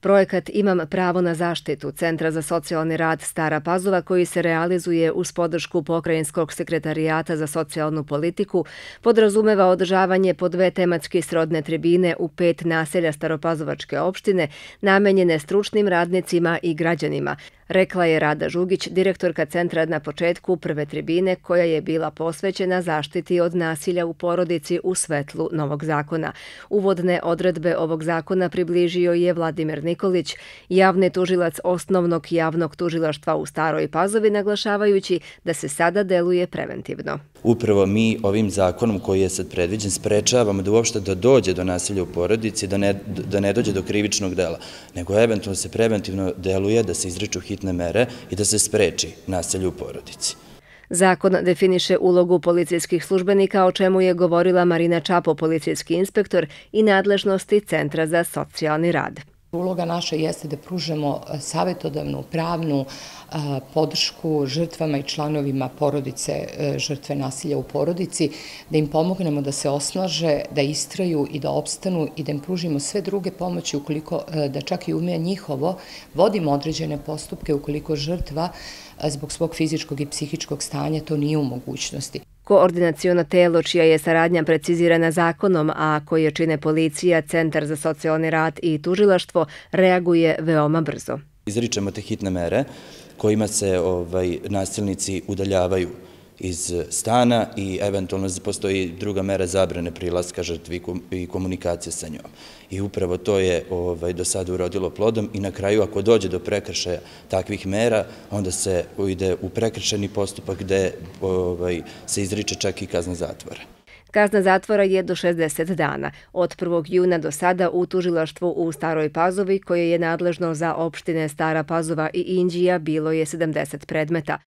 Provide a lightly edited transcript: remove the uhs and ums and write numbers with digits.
Projekat Imam pravo na zaštitu Centra za socijalni rad Stara Pazova, koji se realizuje uz podršku Pokrajinskog sekretarijata za socijalnu politiku, podrazumeva održavanje po 2 tematski srodne tribine u 5 naselja Staropazovačke opštine, namenjene stručnim radnicima i građanima, rekla je Rada Žugić, direktorka centra na početku prve tribine, koja je bila posvećena zaštiti od nasilja u porodici u svetlu novog zakona. Uvodne odredbe ovog zakona približio je Vladimir Nikolić, javni tužilac Osnovnog javnog tužilaštva u Staroj Pazovi, naglašavajući da se sada deluje preventivno. Upravo mi ovim zakonom koji je sad predviđen sprečavamo da uopšte dođe do nasilja u porodici, da ne dođe do krivičnog dela, nego eventualno se preventivno deluje, da se izriču hitne mere i da se spreči nasilje u porodici. Zakon definiše ulogu policijskih službenika, o čemu je govorila Marina Čapo, policijski inspektor, i nadležnosti Centra za socijalni rad. Uloga naša jeste da pružamo savjetodavnu, pravnu podršku žrtvama i članovima porodice žrtve nasilja u porodici, da im pomognemo da se osnaže, da istraju i da opstanu i da im pružimo sve druge pomoći ukoliko, da čak i ume njihovo, vodimo određene postupke ukoliko žrtva zbog svog fizičkog i psihičkog stanja to nije u mogućnosti. Koordinaciono telo, čija je saradnja precizirana zakonom, a koje čine policija, Centar za socijalni rad i tužilaštvo, reaguje veoma brzo. Izričemo te hitne mere kojima se nasilnici udaljavaju iz stana i eventualno postoji druga mera zabrane prilaska žrtvi i komunikacije sa njom. I upravo to je do sada urodilo plodom i na kraju, ako dođe do prekršaja takvih mera, onda se ide u prekršajni postupak gde se izriče čak i kazna zatvora. Kazna zatvora je do 60 dana. Od 1. juna do sada u tužilaštvu u Staroj Pazovi, koje je nadležno za opštine Stara Pazova i Inđija, bilo je 70 predmeta.